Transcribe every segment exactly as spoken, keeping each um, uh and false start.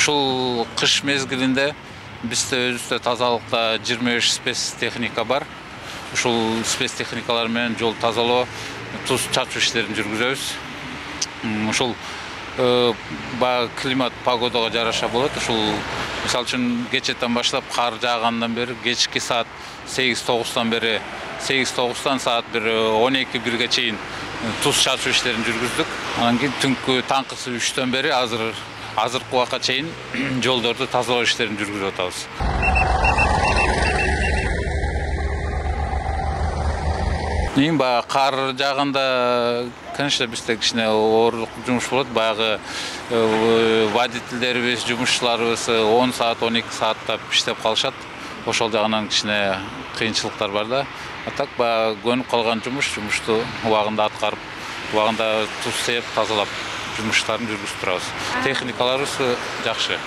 Ушул кыш мезгилинде бизде өзүбүздө тазалыкта жыйырма беш спецтехника бар. Ушул спецтехникалар менен жол тазалоо, туз чачуу иштерин жүргүзөбүз. Ушул баягы климат, погодага жараша болот. Ушул мисалы үчүн кечетен баштап кар жаагандан бери кечки саат сегиз тогуздан бери сегиз тогуздан саат бир он эки бирге чейин туз чачуу иштерин жүргүздүк. Анан кийин түнкү таңкысы үчтөн бери азыр азыркы убакка чейин жолдорду тазалоо иштерин жүргүзүп атабыз. Эң баягы кар жааганда, конечно, бизде кичине оорлук жумуш болот. Баягы водительдерибиз, жумушчуларыбыз он саат, он эки сааттап иштеп калышат. Ошол жагынан кичине кыйынчылыктар бар да. А так баягы көнүп калган жумуш, жумушту убагында аткарып, убагында туз сээп, тазалап жумуштарын жүргүзүп турабыз. Техникаларыбыз жакшы.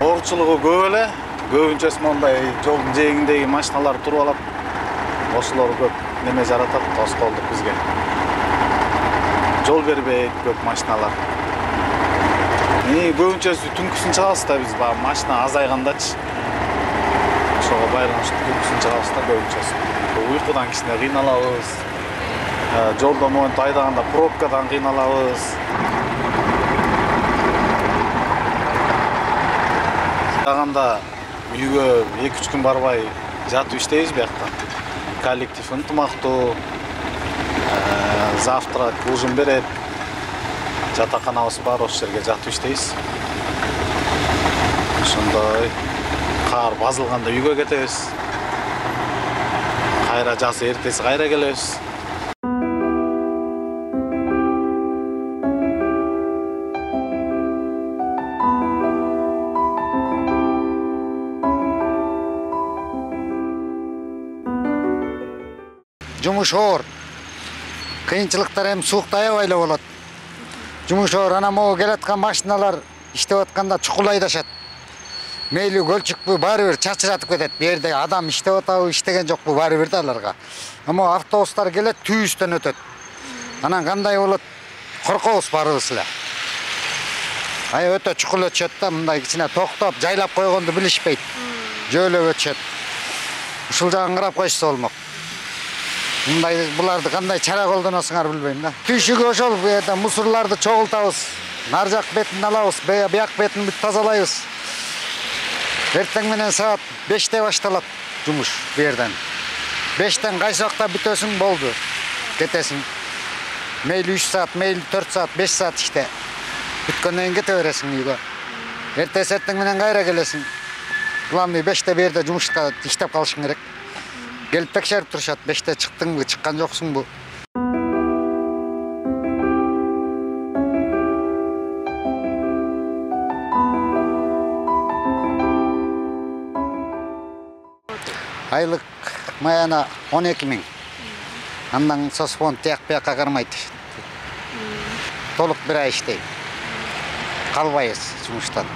Оорчулугу көп эле. Көбүнчөсү мондай жолдун жээгиндеги машиналар туруп алат. Ошолор көп неме жаратат, тоскоолдук бизге. Жол бербейт көп машиналар. Көбүнчөсү түнкүсүн чыгабыз да биз, баягы машина азайгандачы. Ошого байланыштуу түнкүсүн чыгабыз да көбүнчөсү. Уйкудан кичине кыйналабыз. Жолдо моинт айдаганда пробкадан кыйналабыз. Жаганда үйгө эки үч күн барбай жатып иштейбиз биякта. Коллектив ынтымактуу, завтрак, ужин берет. Жатаканабыз бар, ошол жерге жатып иштейбиз. Ошондой кар базылганда үйгө кетебиз. Кайра жазы эртеси кайра келебиз. Жумуш оор. Кыйынчылыктар эми суукта аябай эле болот. Жумуш оор, анан могу келаткан машиналар иштеп атканда чукул айдашат. Мейли көлчүкпү баары бир чачыратып кетет. Бу жерде адам иштеп атабы, иштеген жокпу баары бир да аларга. Эми автобустар келет, түйүстөн өтөт. Анан кандай болот? Коркобуз баарыбыз эле. Ай өтө чукул өтүшөт да, мындай кичине токтоп, жайлап койгонду билишпейт. Жөөлөп өтүшөт. Ушул жагын карап койсо болмок. Мындай буларды кандай чара колдоносуңар билбейм да. Түйшүгү ошол бу жерде мусорларды чогултабыз. Нар жак бетин алабыз, бияк бетин бүт тазалайбыз. Эртең менен саат беште башталат жумуш бу жерден. бештен кайсы убакта бүтөсүң болду. Кетесиң. Мейли үч саат, мейли төрт саат, беш саат иште. Бүткөндөн кийин кете бересиң үйгө. Эртеси эртең менен кайра келесиң. Главный беште бу жерде жумушка иштеп калышың керек. Келип текшерип турушат, беште чыктыңбы, чыккан жоксуңбу. Айлык маяна он эки миң. Андан соцфонд тияк бияка кармайт. Толук бир ай иштейм. Калбайбыз жумуштан.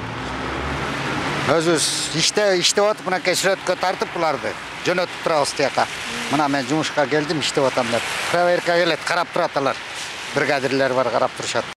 Өзүбүз иште иштеп атып, мынакей сүрөткө тартып буларды. Жөнөтүп турабыз тияка. Мына мен жумушка келдим, иштеп атам деп. Проверка келет, карап турат алар. Бригадирлер бар, карап турушат.